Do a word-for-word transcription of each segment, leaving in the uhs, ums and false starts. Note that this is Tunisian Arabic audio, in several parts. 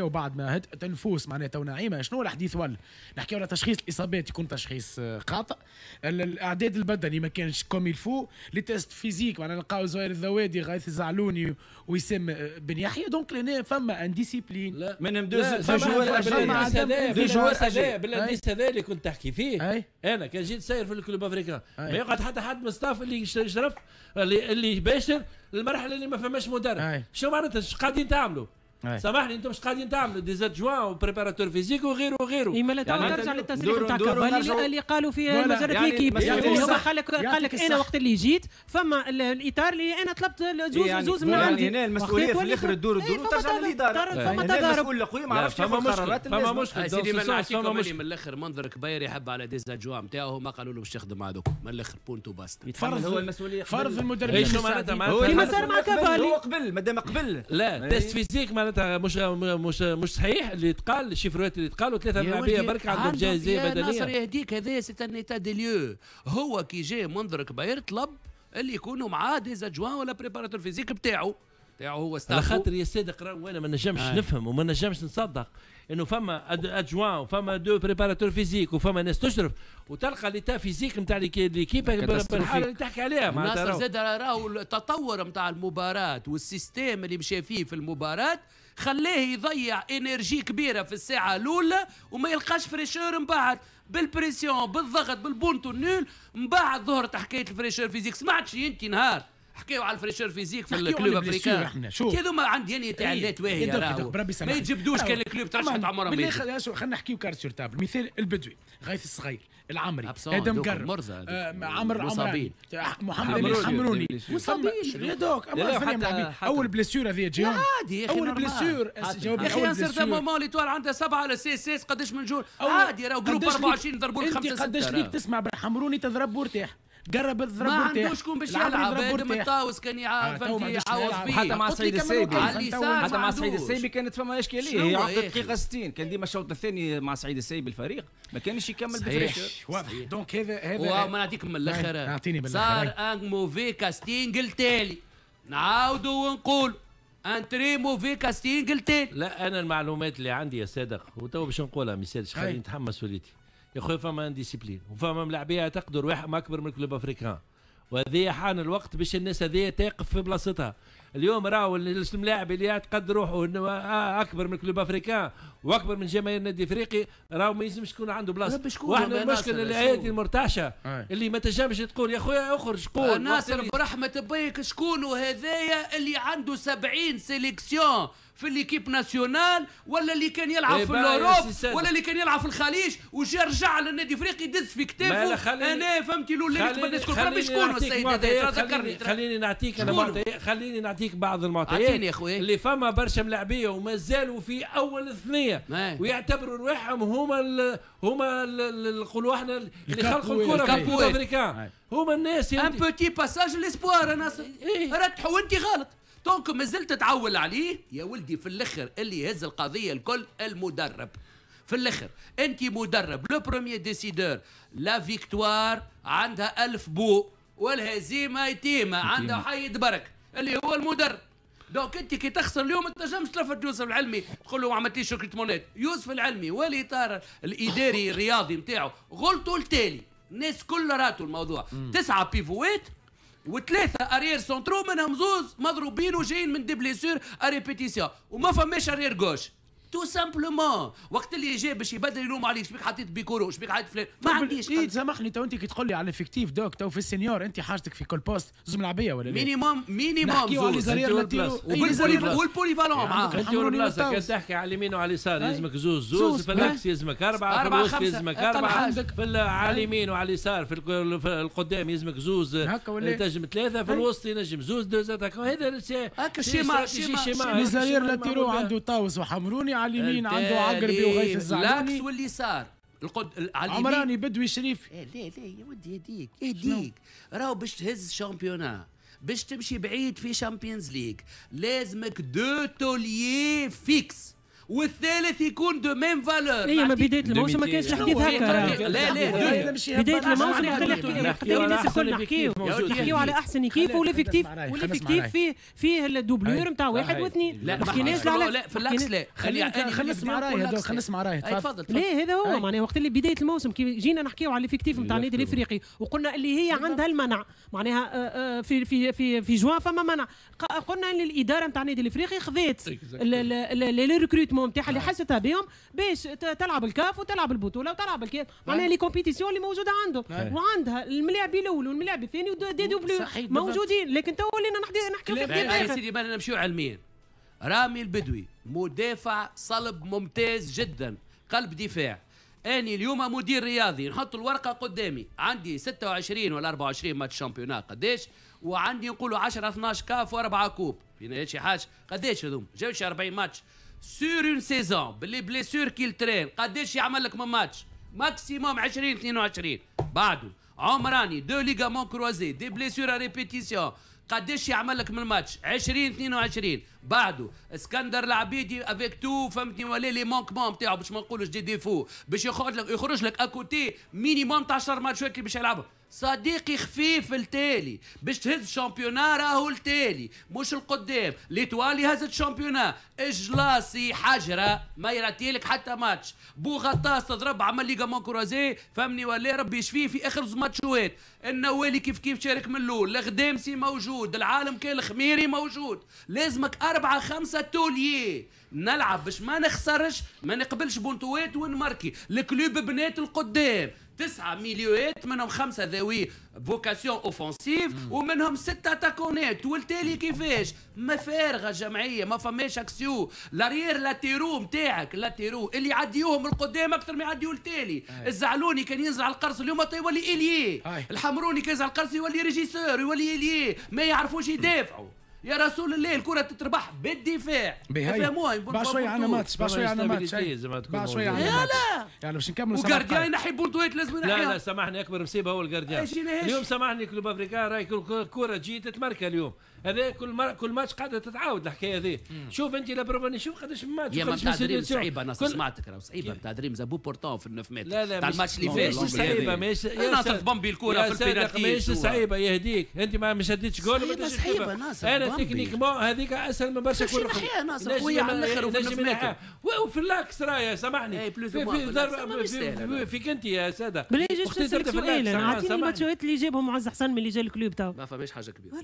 وبعد ما هدأت النفوس معناها تو نعيمه، شنو الحديث ولا نحكيو على تشخيص الاصابات يكون تشخيص آه، خاطئ، الاعداد البدني ما كانش comme il faut، les tests physiques معناها نلقاو زهير الذوادي، غيث الزعلوني، وسام آه، بن يحيى، donc لهنا فما indiscipline. لا، منهم deux joueurs، deux joueurs. بال indice هذا اللي كنت تحكي فيه، انا كان جيت ساير في ال Club Africain ما يقعد حتى حد من staff اللي يشرف اللي اللي يباشر المرحلة اللي ما فماش مدرب. شو معناتها؟ ايش قاعدين تعملوا؟ سامحني، انتم مش قاعدين تعملوا des adjoints و préparateurs physiques وغيره وغيره. اي ما يعني ترجع للتصريح نتاع كافالي اللي قالوا في مجلة L'Équipe، اللي هو قال لك قال لك انا وقت اللي جيت فما الاطار اللي انا طلبت زوز يعني زوز من عندي. يعني هنا المسؤولية في الاخر تدور تدور وترجع للاداره. فما تضارب. المسؤول القوي ما عرفش ياخذ قرارات. فما مشكل سيدي، ما نعطيكم من الاخر، منذر كبير يحب على des adjoints نتاعو، ما قالوا له باش تخدم هذوك، من الاخر punto basta. فرض هو المسؤوليه. فرض المدرب. شو معناتها؟ كيما صار مع كافالي. هو قبل، مادام قبل. لا، test physique معناتها مش مش مش صحيح اللي تقال، ال chiffres اللي تقالوا، ثلاثة ملاعبيه برك عندهم جاهزية بدنيه. ناصر يهديك، هذا c'est un état des lieux. هو كي جاي منذر كبير طلب اللي يكونوا معاه des adjoints ولا préparateur physique بتاعه بتاعه هو. على خاطر يا صادق وانا ما نجمش آه. نفهم وما نجمش نصدق انه فما adjoint وفما deux préparateurs physiques وفما ناس تشرف وتلقى l'état physique نتاع l'équipe بالحالة اللي تحكي عليها. ناصر زاد راهو التطور نتاع المباراة وال système اللي مشى فيه في المباراة خلاه يضيع énergie كبيرة في الساعة الاولى وما يلقاش fraîcheur من بعد، بال pression، بالضغط، بالبونتو nul. من بعد ظهرت حكاية ال fraîcheur physique. سمعتش انت نهار حكاو على ال fraîcheur physique في ال Club Africain؟ هذوما عندي يعني تعلات واهيه، راهو ما يجبدوش كان ال club ترشحت عمرها. خلينا نحكيو cartes sur table. مثال البدوي، غيث الصغير، العمري، ادم قرب، آه عمر عمراني، محمد امين حمروني. مصابين. يا دوك اول blessure هذه تجيهم. عادي يا اخي. اول blessure. جاوبني. يا اخي un certain moment l'Étoile عندها سبعة على CSS، قداش من joueur عادي، راهو groupe أربعة وعشرين ضربوا لك خمسه. قداش ليك تسمع بالحمروني تضرب وارتاح، قرب الضرب؟ ما عندوش شكون باش يلعب. ادم الطاوس كان يعرف يعوض فيه. حتى مع سعيد السيبي، حتى مع سعيد السيبي كانت فما اشكاليه، هي عقد الدقيقة ستين. كان ديما الشوط الثاني مع سعيد السيبي الفريق ما كانش يكمل ب fraîcheur. واضح، donc هذا هذا وما نعطيك من الاخر. اعطيني بالاخر. صار un mauvais casting التالي، نعاودوا ونقول un très mauvais casting التالي. لا، انا المعلومات اللي عندي يا صادق وتو باش نقولها، ما يسالش، خليني نتحمل مسؤوليتي يا خويا. فما indiscipline وفما ملاعبيه تقدر واحد اكبر من Club Africain، وهذه حان الوقت باش الناس هذه تقف في بلاصتها. اليوم راهو الملاعب اللي يعتقد روحه انه اكبر من Club Africain واكبر من جماهير النادي الافريقي راهو ما يلزمش يكون عنده بلاصه. واحنا المشكلة الايادي المرتعشه اللي ما تنجمش تقول يا خويا اخرج قول. ناصر برحمة بيك، شكون هذايا اللي عنده سبعين sélections في l'équipe nationale ولا اللي كان يلعب إيه في l'Europe ولا اللي كان يلعب في الخليج وجا رجع للنادي الافريقي يدز في كتافه؟ انا فهمتي له اللي قبل الناس، شكون السيد هذا؟ ذكرني. خليني نعطيك انا معطيات، خليني نعطيك بعض المعطيات يا خويا. اللي فما برشا ملاعبيه وما زالوا في اول الثنية ويعتبروا رواحهم هما ال هما نقولوا احنا اللي خلقوا الكره في Africain، هما الناس. un petit passage l'espoir ناصر إيه؟ رتحوا وانت غلط، donc مازلت تعول عليه يا ولدي. في الاخر اللي يهز القضية الكل المدرب. في الاخر انت مدرب، le premier décideur. la victoire عندها ألف بو والهزيمة يتيمة عندها حيد برك اللي هو المدرب. donc انت كي تخسر اليوم ما تنجمش تلفت يوسف العلمي تقول له ما عملتليش recrutement ات. يوسف العلمي والاطار الاداري الرياضي نتاعو غلطوا التالي، الناس كل راتوا الموضوع. تسعة pivot ات وثلاثة arrières centraux، منهم زوز مضروبين وجايين من des blessures à répétition، وما فماش arrière gauche tout simplement. وقت اللي جاي باش يبدل يلوم عليك، شبيك حطيت بيكورو؟ شبيك حطيت فلان؟ ما عنديش. إيه سامحني، تو انت كي تقول لي على l'effectif، donc تو في ال senior انت حاجتك في كل poste زوز ملاعبيه ولا لا؟ minimum minimum زوز وال polyvalent معاه. انت والبلاصه كان تحكي على اليمين وعلى اليسار يلزمك زوز زوز، في l'axe يلزمك اربعه، في الوسط يلزمك اربعه، في على اليمين وعلى اليسار، في القدام يلزمك زوز، تنجم ثلاثه، في الوسط ينجم زوز، deux attaquants. هذا هكا schéma. schéma les arrières latéraux عنده طاوس وحمروني، على اليمين عنده عقربي وغيث الزعلوني. l'axe واليسار القد على اليمين عمراني، بدوي، شريف. إيه لا لا يا ودي، يهديك يهديك، راهو باش تهز championnat، باش تمشي بعيد في Champions League، لازمك deux tauliers fixes. والثالث يكون de même valeur. هي ما بداية الموسم ما كانش الحديث هكا. لا لا بداية الموسم اللي الناس الكل نحكيو نحكيو على احسن équipe و l'effectif و l'effectif فيه فيه ال doublure نتاع واحد واثنين. ما حكيناش لا لا في l'axe لا. خلينا خلينا نسمع راي هذا، خلينا نسمع راي. تفضل. لا هذا هو معناها وقت اللي بداية الموسم كي جينا نحكيو على l'effectif نتاع النادي الافريقي وقلنا اللي هي عندها المنع معناها في في في في جوان فما منع، قلنا ان الادارة نتاع النادي الافريقي خذات les recrutements نتاعها اللي حستها بهم باش تلعب الكاف وتلعب البطولة وتلعب الكاف معناها les compétitions اللي موجودة عندهم وعندها الملاعب الاول والملاعب الثاني و des doublures موجودين. لكن تو ولينا نحكيو في يا سيدي بالنا نمشيو علميا. رامي البدوي مدافع صلب ممتاز جدا، قلب دفاع. اني اليوم مدير رياضي نحط الورقة قدامي، عندي ستة وعشرين ولا أربعة وعشرين match championnat قداش، وعندي نقولوا عشرة اثناش كاف واربعة coupe، فينا شي حاجة قداش هذوما جاوش أربعين match sur une saison ب les blessures qui traînent قداش يعمل لك من match maximum عشرين اثنين وعشرين. بعده عمراني deux ligaments croisés des blessures à répétition قداش يعمل لك من ماتش عشرين اثنين وعشرين. بعده اسكندر العبيدي avec tout فهمتني ولا les manquements نتاعو باش ما نقولوش des défauts باش يخرج لك يخرج لك à côté minimum تاع عشرة ماتشات اللي باش يلعبها. صديقي خفيف التالي باش تهز championnat راهو التالي مش القدام. l'Étoile هزت championnat، اجلاسي حجره ما يراتيلك حتى ماتش، بوغطاس تضرب عمل ligaments croisés فهمني ولا ربي يشفيه في اخر زوج ماتشوات. النوالي كيف كيف شارك من الاول، الغدامسي موجود، العالم كان الخميري موجود. لازمك أربعة خمسة tauliers نلعب باش ما نخسرش ما نقبلش بونتوات ونماركي. ال club بنات القدام تسعة ميليوات منهم خمسة ذوي vocation offensive ومنهم ستة تاكونات. والتالي كيفاش؟ ما فارغة جمعية، ما فماش axiaux. l'arrière latéraux نتاعك latéraux اللي يعديوهم القدام اكثر ما يعديو التالي. الزعلوني كان ينزل على القرص اليوم يولي ailier، الحمروني كان ينزل على القرص يولي régisseur يولي ailier، ما يعرفوش يدافعوا. يا رسول الله الكرة تتربح بالدفاع. فهموها. بعد شوية عندنا ماتش، بعد شوية عندنا ماتش، بعد شوية عندنا ماتش. يعني باش نكملوا. و gardien ينحي بونتوات لازم ينحيها. لا لا سامحني اكبر مصيبة هو ال gardien. اليوم سامحني Club Africain راهي كرة تجي تتمركى اليوم. هذا كل مر... كل ماتش قاعدة تتعاود الحكاية هذه. شوف انت la preuve شوف قداش من ماتش. يا ما نتاع دريم صعيبة انا سمعتك راهو صعيبة نتاع دريم à bout portant في ال neuf mètres. لا لا تاع الماتش اللي فات ماهيش صعيبة ماهيش ناصر بامبي الكره في البينالتي ماهيش صعيبة يهديك انت ما شديتش جول. صعيبة ناصر انا techniquement هذيك اسهل من برشا كره. نحيها ناصر خويا على الاخر وفي ال neuf mètres وفي l'axe راهي سامحني في في فيك انت يا ساده. بالله سؤال انا اعطيني الماتشات اللي جابهم معز حسن من اللي جا ال club تو. ما فماش حاجة كبيرة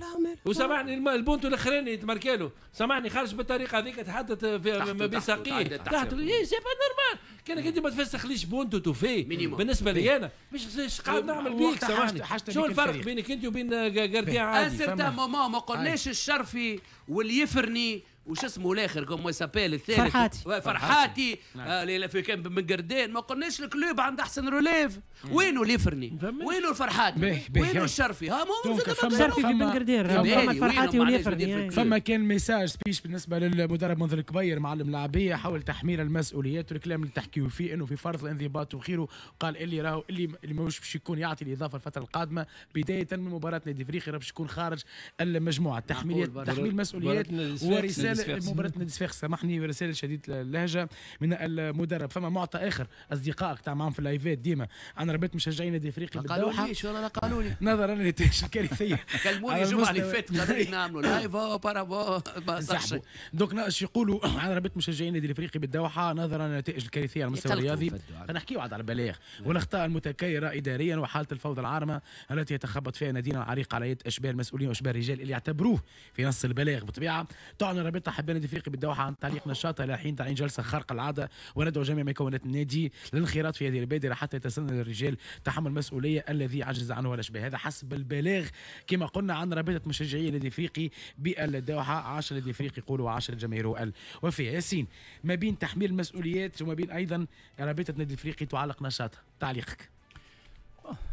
وسامحني البونتو الاخراني تماركالو سامحني خرج بالطريقة هذيك تحدث في ما بين ساقيه تحت إيه c'est pas normal. كانك انت ما تفسخليش بونتو توفي بالنسبة لي انا مش قاعد نعمل بيك سامحني. شو الفرق بينك انت وبين gardien عادي؟ à un certain moment ما قلناش الشرفي واليفرني وش اسمه الاخر comment s'appelle الثالث فرحاتي فرحاتي آه في كان من قردين. ما قلناش ال club عند احسن relève. وينو اليفرني؟ وينو الفرحاتي؟ وينو الشرفي؟ ها مو الشرفي في بن قردين فما الفرحاتي واليفرني. فما كان message speech بالنسبة للمدرب منذر الكبير معلم اللاعبيه حول تحميل المسؤوليات والكلام اللي تحكيو فيه انه في فرض الانضباط وخيره. قال اللي راهو اللي اللي ماهوش باش يكون يعطي الاضافة الفترة القادمة بداية من مباراة نادي افريقيا باش يكون خارج المجموعة. تحميل تحميل مسؤوليات ورسالة مباراة نادي صفاقس سامحني ورسالة شديدة اللهجة من المدرب. فما معطى آخر أصدقائك تاع معاهم في اللايفات ديما عن رابطة مشجعين نادي افريقي بالدوحة. قالوا لي شو قالوا لي نظرا للنتائج الكارثية كلموني الجمعة اللي فاتت قالوا لي نعملوا live بارابو ما صحش. donc اش يقولوا عن رابطة مشجعين نادي الافريقي بالدوحة نظرا للنتائج الكارثية على المستوى الرياضي. نحكيو عاد على البلاغ والاخطاء المتكررة إداريا وحالة الفوضى العارمة التي يتخبط فيها نادينا العريق على يد أشباه المسؤولين وأشباه الرجال اللي يعتبروه في نص البلاغ بالطبيعة. تعلن رابطة حبان النادي الافريقي بالدوحه عن تعليق نشاطها الى حين تعيين جلسه خارقة العادة وندعو جميع مكونات النادي للانخراط في هذه البادرة حتى يتسنى للرجال تحمل المسؤولية الذي عجز عنه الاشباه. هذا حسب البلاغ كما قلنا عن رابطه مشجعي النادي الافريقي بالدوحه. عاش النادي الافريقي يقولوا عاش الجماهير الوفيه. ياسين ما بين تحميل المسؤوليات وما بين ايضا رابطه النادي الافريقي تعلق نشاطها، تعليقك؟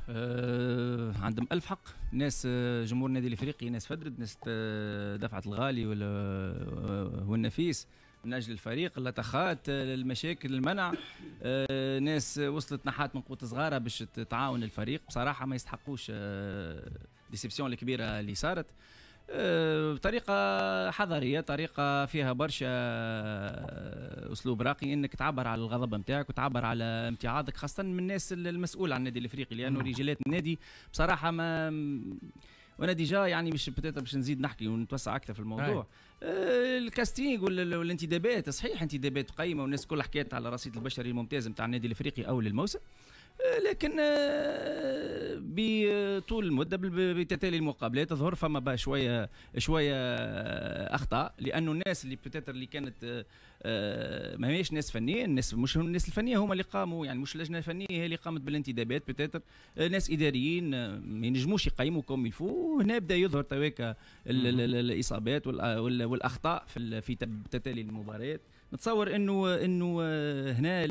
أه عندهم ألف حق ناس جمهور النادي الافريقي، ناس فدرت، ناس دفعت الغالي والنفيس من اجل الفريق، اللطخات، المشاكل، المنع، أه ناس وصلت نحات من قوة صغارة باش تعاون الفريق. بصراحة ما يستحقوش déception الكبيرة اللي صارت. بطريقة حضارية، طريقه فيها برشا اسلوب راقي، انك تعبر على الغضب نتاعك وتعبر على امتعاضك، خاصة من الناس المسؤولة عن النادي الافريقي، لانه رجالات النادي بصراحة ما وانا déjà يعني مش peut-être باش نزيد نحكي ونتوسع اكثر في الموضوع. آه ال casting والانتدابات، صحيح انتدابات قيمة والناس كلها حكات على الرصيد البشري الممتاز نتاع النادي الافريقي اول الموسم، لكن بطول المدة بتتالي المقابلات ظهر فما شوية شوية اخطاء، لانه الناس اللي peut-être اللي كانت ما هيش ناس فنية، الناس مش الناس الفنية هما اللي قاموا، يعني مش اللجنة الفنية هي اللي قامت بالانتدابات، peut-être ناس اداريين ما ينجموش يقيموا comme il faut. هنا بدا يظهر تواكا الاصابات والاخطاء في في تتالي المباريات. نتصور انه انه هنا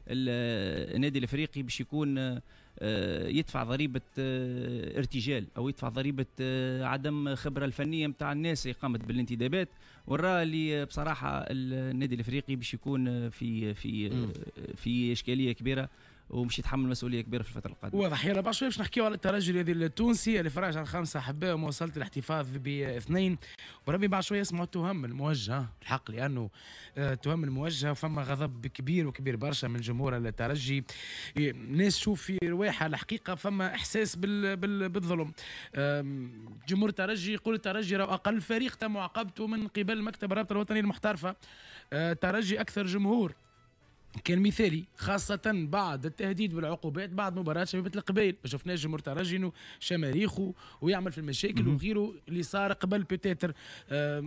النادي الافريقي باش يكون يدفع ضريبة ارتجال او يدفع ضريبة عدم خبره الفنية نتاع الناس اللي قامت بالانتدابات، ورا اللي بصراحة النادي الافريقي باش يكون في في في اشكالية كبيرة ومش يتحمل مسؤولية كبيرة في الفترة القادمة. واضح. يلا بعد شوي باش نحكيو على الترجي الرياضي التونسي اللي فرج على خمسة احباء ومواصله الاحتفاظ باثنين، وربي بعد شوية يسمعوا التهم الموجهة الحق، لانه التهم الموجهة فما غضب كبير وكبير برشا من جمهور الترجي، ناس تشوف في رواحه الحقيقة فما احساس بال بال بالظلم. جمهور الترجي يقول الترجي راه اقل فريق تم معاقبته من قبل مكتب الرابطة الوطنية المحترفه، الترجي اكثر جمهور كان مثالي خاصة بعد التهديد بالعقوبات بعد مباراة شبيبة القبائل، ما شفناش جمهور ترجي انه شماريخه ويعمل في المشاكل وغيره اللي صار قبل peut-être.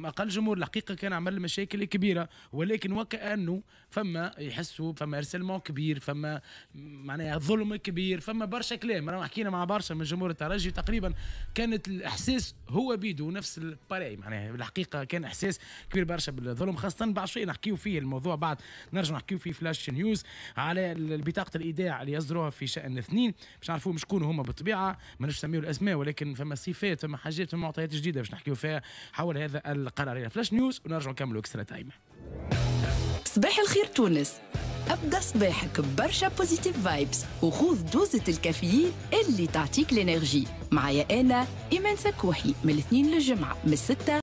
اقل جمهور الحقيقة كان عمل مشاكل كبيرة، ولكن وكأنه فما يحسوا فما harcèlement كبير، فما معناها ظلم كبير، فما برشا كلام. رانا حكينا مع برشا من جمهور الترجي تقريبا كانت الاحساس هو بيدو نفس ال pareil، معناها الحقيقة كان احساس كبير برشا بالظلم، خاصة بعد شوي نحكيو فيه الموضوع بعد نرجع نحكيو فيه flash news على بطاقة الايداع اللي يصدروها في شان اثنين باش نعرفوهم شكون هما بالطبيعة، ما نسميو الاسماء ولكن فما صفات فما حاجات فما معطيات جديدة باش نحكيو فيها حول هذا القرار. flash news ونرجع نكملوا extra time. صباح الخير تونس، ابدا صباحك برشا positive vibes وخذ دوزة الكافيين اللي تعطيك l'énergie. معايا انا ايمان سكوحي من الاثنين للجمعة من الستة